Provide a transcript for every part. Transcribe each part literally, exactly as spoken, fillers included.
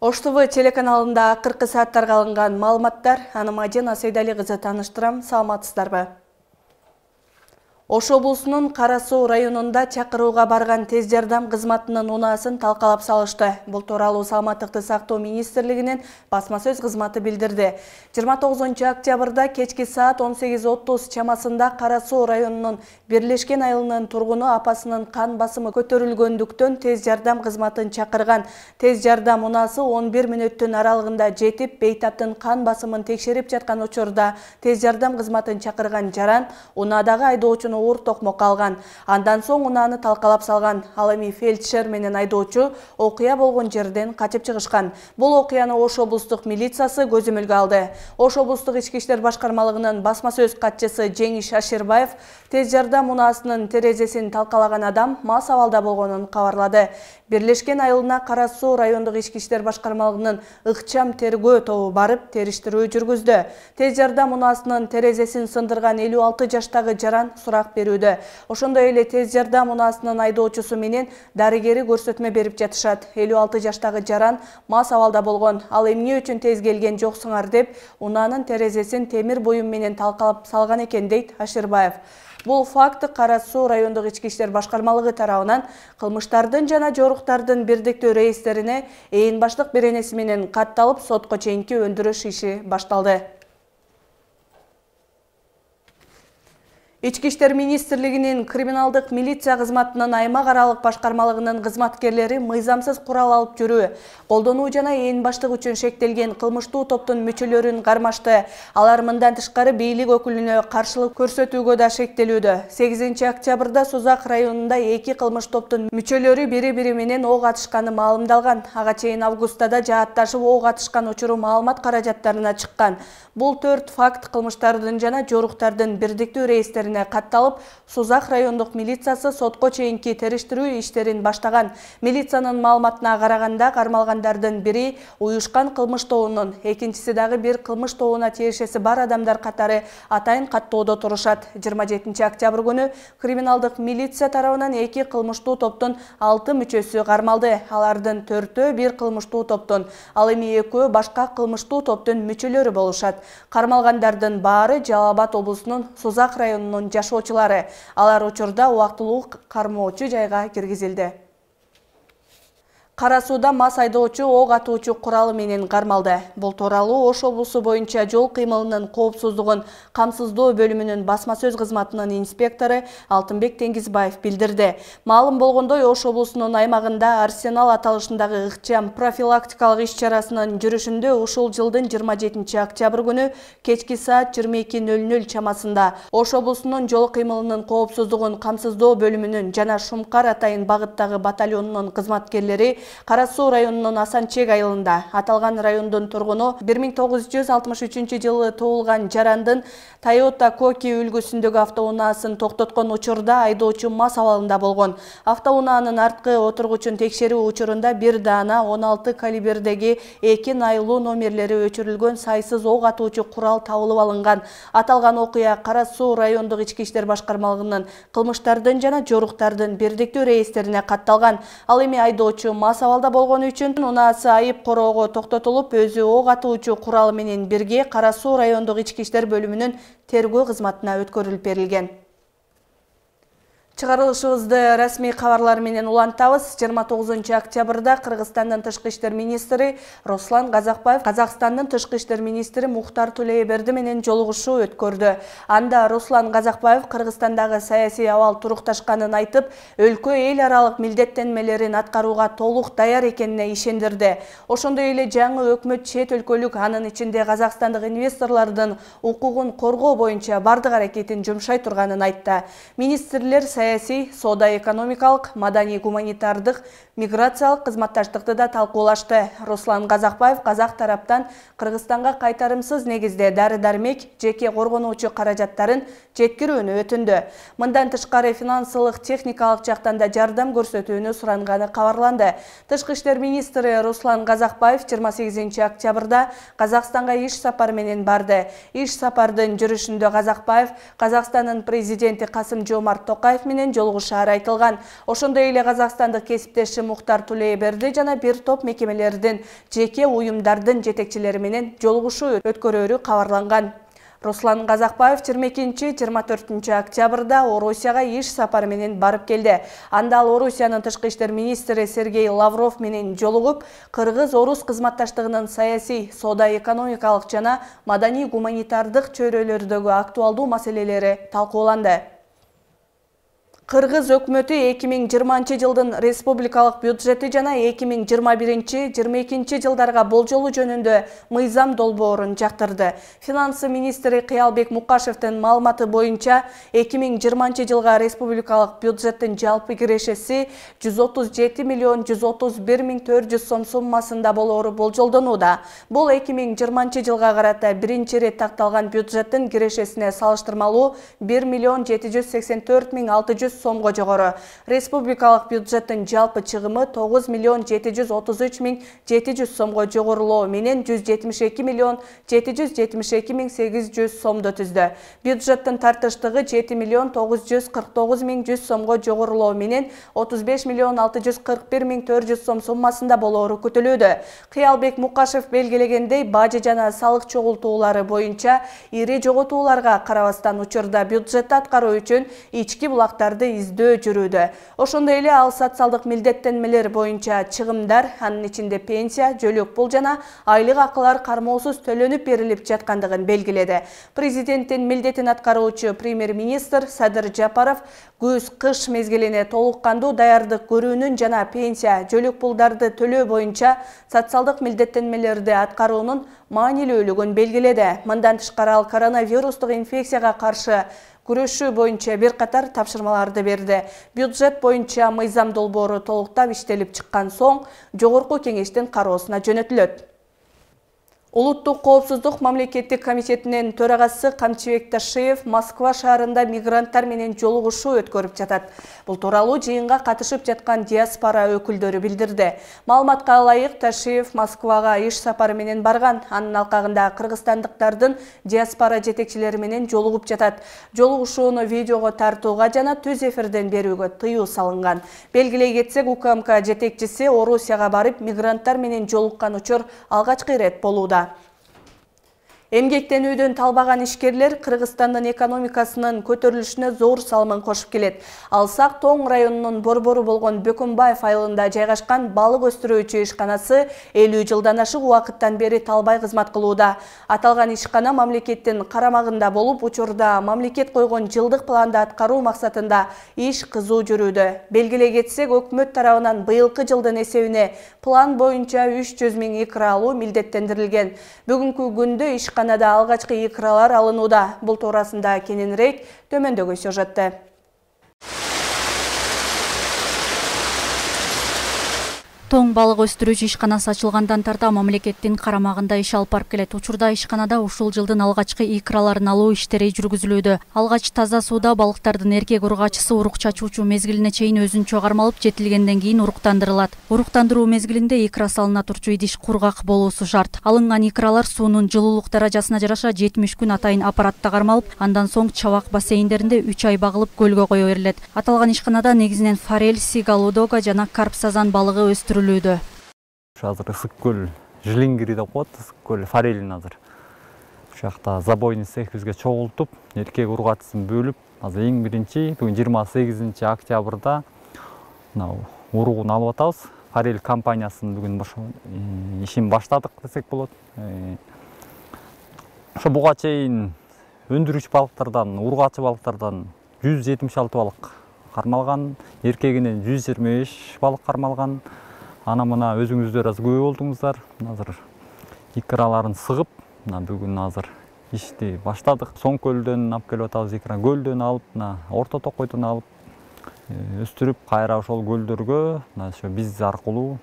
Ош ТВ телеканалында акыркы сааттарга алынган маалыматтар, аны Мадина Сейдали кызы тааныштырам. Саламатсыздарбы? Ош облусунун Кара Суу районунда чакырууга барган тез жардам кызматынын унаасын талкалап салышты. Бул тууралуу Саламаттыкты сактоо министрлигинин басма сөз кызматы билдирди. жыйырма тогузунчу октябрда кечки саат он сегиз отуз чамасында Кара Суу районунун Бирлешкен айылынын тургуну апасынын кан басымы көтөрүлгөндүктөн тез жардам кызматын чакырган. Тез жардам унаасы он бир мүнөттүн аралыгында жетип, бейтаптын кан басымын текшерип жаткан учурда тез жардам кызматын чакырган жаран унаадагы айдоочуну оор токмокко алган. Андан соң унааны талкалап салган. Ал эми фельдшер менен айдоочу окуя болгон жерден качып чыгышкан. Бул окуяны Ош облустук милициясы көзөмөлгө алды. Ош облустук ички иштер башкармалыгынын басма сөз катчысы Жеңиш Аширбаев тез жардам унаасынын терезесин талкалаган адам мас абалда болгонун кабарлады. Бирлешкен айылына Кара Суу райондук ички иштер башкармалыгынын ыкчам тергөө тобу барып териштирүү жүргүздү. Тез жардам унаасынын терезесин сындырган элүү алты жаштагы жаран сурак берүүдө. Ошондой эле тез жардам унаасынын айдоочусу менен дарыгери көрсөтмө берип жатышат. элүү алты жаштагы жаран мас абалда болгон. Ал эмне үчүн тез келген жоксуңар деп унаанын терезесин темир буюм менен талкалап салган экен, дейт Аширбаев. Бул факт Кара Суу райондук ички иштер башкармалыгы тарабынан кылмыштардын жана жоруктардын бирдиктүү рейистерине ээн баштык беренеси менен катталып, сотко чейинки өндүрүш иши башталды. Ички иштер министрлигинин криминалдык милиция кызматынын аймак аралык башкармалыгынын кызматкерлери мыйзамсыз курал алып жүрүү, колдонуу жана ээн баштык үчүн шектелген кылмыштуу топтун мүчөлөрүн кармашты. Алар мындан тышкары бийлик өкүлүнө каршылык көрсөтүүгө да шектелүүдө. сегизинчи октябрда Сузак районунда эки кылмыш топтун мүчөлөрү бири-бири менен ок атышканы маалымдалган. Ага чейин августта да жаатташып ок атышкан учуру маалымат каражаттарына чыккан. Бул төрт факт кылмыштардын жана жоруктардын бирдиктүү рейистерине катталып, Сузак райондук милициясы сотко чейинки териштирүү иштерин баштаган. Милициянын маалыматына караганда, кармалгандардын бири уюшкан кылмыш тобунун, экинчиси дагы бир кылмыш тобуна тиешеси бар адамдар катары атайын каттоодо турушат. жыйырма жетинчи октябрь күнү криминалдык милиция тарабынан эки кылмыштуу топтун алты мүчөсү кармалды. Алардын төртөө бир кылмыштуу топтун, ал эми экөө башка кылмыштуу топтун мүчөлөрү болушат. Кармалгандардын баары Жалал Абад облусунун Сузак районунун жашоочулары. Алар учурда убактылуу кармоочу жайга киргизилди. Кара Сууда мас айдоочу ок атуучу куралы менен кармалды. Бул тууралуу Ош облусу боюнча жол кыймылынын коопсуздугун камсыздоо бөлүмүнүн басма сөз кызматынын инспектору Алтынбек Теңизбаев билдирди. Маалым болгондой, Ош облусунун аймагында Арсенал аталышындагы ыкчам профилактикалык иш-чарасынын жүрүшүндө ушул жылдын жыйырма жетинчи октябрь күнү кечки саат жыйырма эки нөл нөл чамасында Ош облусунун жол кыймылынын коопсуздугун камсыздоо бөлүмүнүн жана Шумкар атайын багыттагы батальонунун кызматкерлери Кара Суу районунун Асанчек айылында аталган райондун тургуну бир миң тогуз жүз алтымыш үчүнчү жылы туулган жарандын Toyota Коки үлгүсүндөгү автоунаасын токтоткон учурда айдоочу мас абалында болгон. Автоунаанын арткы отургучун текшерүү учурунда бир даана он алты калибрдеги эки найлуу номерлери өчүрүлгөн сайсыз ок атуучу курал табылып алынган. Аталган окуя Кара Суу райондук ички иштер башкармалыгынын кылмыштардын жана жоруктардын бирдиктүү рейистерине катталган. Ал эми айдоочу мас абалда болгону үчүн унаасы айып короого токтотулуп, өзү ок атуучу куралы менен бирге Кара Суу райондук ички иштер бөлүмүнүн тергөө кызматына өткөрүлүп берилген. Чыгарылышыбызды расмий кабарлар менен улантабыз. жыйырма тогузунчу октябрда Кыргызстандын тышкы иштер министри Руслан Казакбаев Казакстандын тышкы иштер министри Мухтар Тулееберди менен жолугушуу өткөрдү. Анда Руслан Казакбаев Кыргызстандагы саясий абал турукташканын айтып, өлкө эл аралык милдеттенмелерин аткарууга толук даяр экенине ишендирди. Ошондой эле жаңы өкмөт чет өлкөлүк, анын ичинде Казакстандык инвесторлордун укугун коргоо боюнча бардык аракетин жумшай турганын айтты. Министрлер саясий, соода-экономикалык, маданий-гуманитардык, миграциялык кызматташтыкты да талкуулашты. Руслан Казакбаев казак тараптан Кыргызстанга кайтарымсыз негизде дары-дармек, жеке коргонуучу каражаттарын жеткирүүнү өтүндү. Мындан тышкары финансылык техникалык жактан да жардам көрсөтүүнү суранганы кабарланды. Тышкы иштер министри Руслан Казакбаев жыйырма сегизинчи октябрда Казакстанга иш сапар менен барды. Иш сапардын жүрүшүндө Казакбаев Казакстандын президенти Касым-Жомарт Токаев менен жолугушаары айтылган. Ошондой эле казакстандык кесиптеши Мухтар Тулейберди жана бир топ мекемелердин, жеке уюмдардын жетекчилери менен жолугушуу өткөрөөрү кабарланган. Руслан Казакбаев жыйырма экинчи — жыйырма төртүнчү октябрда Орусияга иш сапары менен барып келди. Анда ал Орусиянын тышкы иштер министри Сергей Лавров менен жолугуп, кыргыз-орус кызматташтыгынын саясий, соода-экономикалык жана маданий-гуманитардык чөйрөлөрдөгү актуалдуу маселелери талкууланды. Кыргыз өкмөтү эки миң жыйырманчы жылдын республикалык бюджети жана эки миң жыйырма биринчи — жыйырма экинчи жылдарга болжолу жөнүндө мыйзам долбоорун жактырды. Финансы министри Кыялбек Мукашевдин маалыматы боюнча, эки миң жыйырманчы жылга республикалык бюджеттин жалпы кирешеси жүз отуз жети миллион жүз отуз бир миң төрт жүз сом суммасында болоору болжолдонууда. Бул эки миң жыйырманчы жылга карата биринчи ирет такталган бюджеттин кирешесине салыштырмалуу бир миллион жети жүз сексен төрт миң алты жүз сомго жогору. Республикалык бюджеттин жалпы чыгымы тогуз миллион жети жүз отуз үч миң жети жүз сомго жогорулоо менен жүз жетимиш эки миллион жети жүз жетимиш эки миң сегиз жүз сомду түздү. Бюджеттин тартыштыгы жети миллион тогуз жүз кырк тогуз миң жүз сомго жогорулоо менен отуз беш миллион алты жүз кырк бир миң төрт жүз сом суммасында болоору күтүлүүдө. Кыялбек Мукашев белгилегендей, бажы жана салык чогултуулары боюнча ири жоготууларга карабастан учурда бюджетти аткаруу үчүн ички булактарды издөө жүрүүдө. Ошондой эле ал социалдык милдеттенмелер боюнча чыгымдар, анын ичинде пенсия, жөлөк пул жана айлык акылар кармоосуз төлөнүп берилип жаткандыгын белгиледи. Президенттин милдетин аткаруучу премьер-министр Садыр Жапаров көз-кыш мезгилине толук кандуу даярдык көрүүнүн жана пенсия, жөлөк пулдарды төлөө боюнча социалдык милдеттенмелерди аткаруунун маанилүүлүгүн белгиледи. Мындан тышкары ал коронавирустук инфекцияга каршы күрөшүү боюнча бир катар тапшырмаларды берди. Бюджет боюнча мыйзам долбоору толуктап иштелип чыккан соң жогорку кеңештин кароосуна жөнөтүлөт. Улуттук коопсуздук мамлекеттик комитетинин төрагасы Камчыбек Ташиев Москва шаарында мигранттар менен жолугушуу өткөрүп жатат. Бул тууралуу жыйынга катышып жаткан диаспора өкүлдөрү билдирди. Маалыматка ылайык, Ташиев Москвага иш сапары менен барган. Анын алкагында кыргызстандыктардын диаспора жетекчилери менен жолугуп жатат. Жолугушууну видеого тартууга жана түз эфирден берүүгө тыюу салынган. Белгилей кетсек, УКМК жетекчиси Орусияга барып мигранттар менен жолуккан учур алгачкы ирет болууда. Эмгектенүүдөн талбаган ишкерлер Кыргызстандын экономикасынын көтөрүлүшүнө зор салымын кошуп келет. Алсак Тоң районунун борбору болгон Бөкөнбаев айылында жайгашкан балык өстүрүүчү ишканасы элүү жылдан ашык убакыттан бери талбай кызмат кылууда. Аталган ишкана мамлекеттин карамагында болуп, учурда мамлекет койгон жылдык планды аткаруу максатында иш кызуу жүрүүдө. Белгилей кетсек, өкмөт тарабынан быйылкы жылдын эсебине план боюнча үч жүз миң икра алуу милдеттендирилген. Бүгүнкү күндө иш Канада алгачкы икралар алынууда. Бул туурасында кененирээк төмөндөгү сюжетте. Тоң балык өстүрүүчү ишканасы ачылгандан тарта мамлекеттин карамагында иш алып барып келет. Учурда ишканада ушул жылдын алгачкы икраларын алуу иштери жүргүзүлүүдө. Алгач таза сууда балыктардын эркек урукчасы урук чачуучу мезгилине чейин өзүнчө кармалып, жетилгенден кийин уруктандырылат. Уруктандыруу мезгилинде икра салына турчу идиш кургак болуусу шарт. Алынган икралар суунун жылуулук даражасына жараша жетимиш күн атайын аппаратта кармалып, андан соң чабак бассейндеринде үч ай багылып көлгө кое берилет. Аталган ишканада негизинен форель, сигал, удога жана карп сазан балыгы өстүрүлөт. Азыр ысык көл жилингири деп коет, ысык көл форелин азыр. Ушул жакта забойный цех бизге чогултуп, эркек ургачысын бөлүп, азыр эң биринчи бүгүн жыйырма сегизинчи октябрда мына уругун алып атабыз. Форель компаниясынын бүгүн ишин баштадык десек болот. Ошо буга чейин өндүрүүчү балыктардан, ургачы балыктардан жүз жетимиш алты балык кармалган, эркегинен жүз жыйырма беш балык кармалган. Ана мына өзүңүздөр аз күбө болдуңуздар. Азыр икраларын сыгып, мына бүгүн азыр ишти баштадык. Соң көлдөн алып келип атабыз икра, көлдөн алып, мына Орто Токойдон алып өстүрүп, кайра ошол көлдөргө, мына ошо биз аркылуу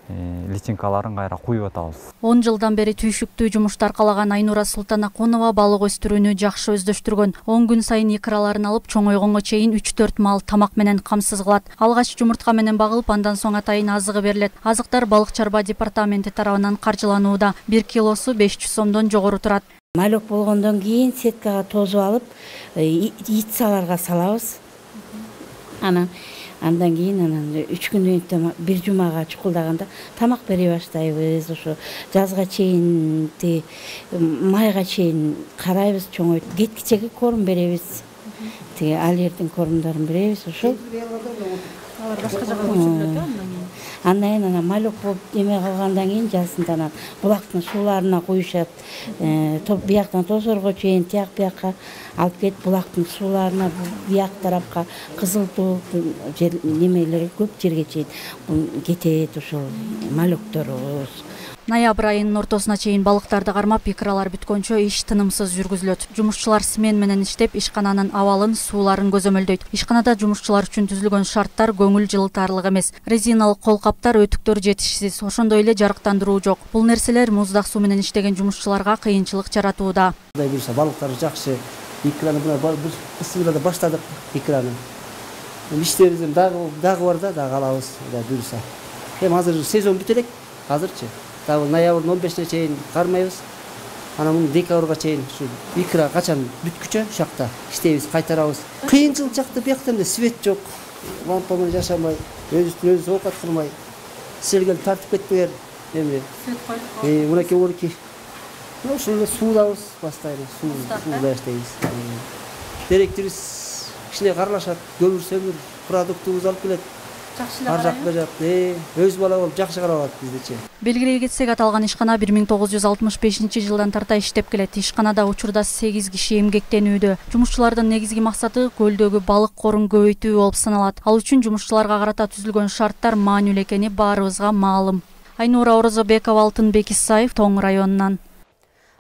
личинкаларын кайра куюп атабыз. он жылдан бери түйшүктүү жумушту аркалаган Айнура Султанакунова балык өстүрүүнү жакшы өздөштүргөн. он күн сайын икраларын алып чоңойгонго чейин үч төрт маал тамак менен камсыз кылат. Алгач жумуртка менен багылып, андан соң атайын азыгы берилет. Азыктар балык чарба департаменти тарабынан каржыланууда. бир килосу беш жүз сомдон жогору турат. Малек болгондон кийин сеткага тозуп алып, яйцаларга салабыз. Анан андан кийин анан үч күндөн кийин бир жумага чукулдаганда тамак бере баштайбыз. Ошо жазга чейин, майга чейин карайбыз, чоңойт. Кеткичеге корм беребиз. Тиги алердин кормдорун беребиз. Ошол Алар башка жака көчүрүлөт андан кийин. Андан кийин анан малек болуп эме кылгандан кийин жазында анан булактын сууларына куюшат. Топ бияктан тосорго чейин тияк биякка алып кетип булактын сууларына бияк тарапка кызыл туу немелери көп жерге чейин кетет ошол малекторубуз. Ноябрь айынын ортосуна чейин балыктарды кармап, икралар бүткөнчө иш тынымсыз жүргүзүлөт. Жумушчулар смен менен иштеп, ишкананын абалын, сууларын көзөмөлдөйт. Ишканада жумушчулар үчүн түзүлгөн шарттар көңүл жылытарлык эмес. Резиналык кол каптар, өтүктөр жетишсиз, ошондой эле жарыктандыруу жок. Бул нерселер муздак суу менен иштеген жумушчуларга кыйынчылык жаратууда. Кудай буйруса, балыктар жакшы. Икраны бысыгыда баштадык икраны. Иштерибиз дагы дагы бар да, дагы алабыз, Кудай буйруса. Эми азыр сезон бүтө элек, азырчы. Дагы ноябрдын он бешине чейин кармайбыз. Анан муну декабрга чейин ушу икра качан бүткүчө ушакта иштейбиз, кайтарабыз. Кыйынчылык жакта биякта эмне свет жок. Лампа менен жашамай, өзүбүздүн өзүбүз оокат кылмай. Силер келип тартып кетпеңер. Эми свет коюп. Э, мынакей орки. Ошол эле суудабыз, постоянно сууда иштейбиз. Директорибиз кичине каралашат, көмүр сөмүр продуктубузду алып келет. Ар жакта жак, э, өз бала болуп жакшы карап атат биздичи. Белгилей кетсек, аталган ишкана бир миң тогуз жүз алтымыш бешинчи жылдан тарта иштеп келет. Ишканада учурда сегиз киши эмгектенүүдө. Жумушчулардын негизги максаты көлдөгү балык корун көбөйтүү болуп саналат. Ал үчүн жумушчуларга карата түзүлгөн шарттар маанилүү экени баарыбызга маалым. Айнура Орозобекова, Алтынбек Исаев, Тоң районунан.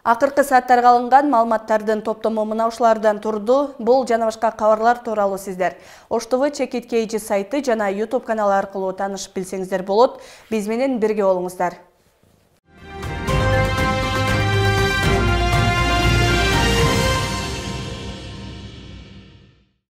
Акыркы сааттарга алынган маалыматтардын топтому мына ушулардан турду. Бул жана башка кабарлар тууралуу сиздер Ош Т В Чекит Кейжи сайты жана YouTube каналы аркылуу таанышып билсеңиздер болот. Биз менен бирге болуңуздар.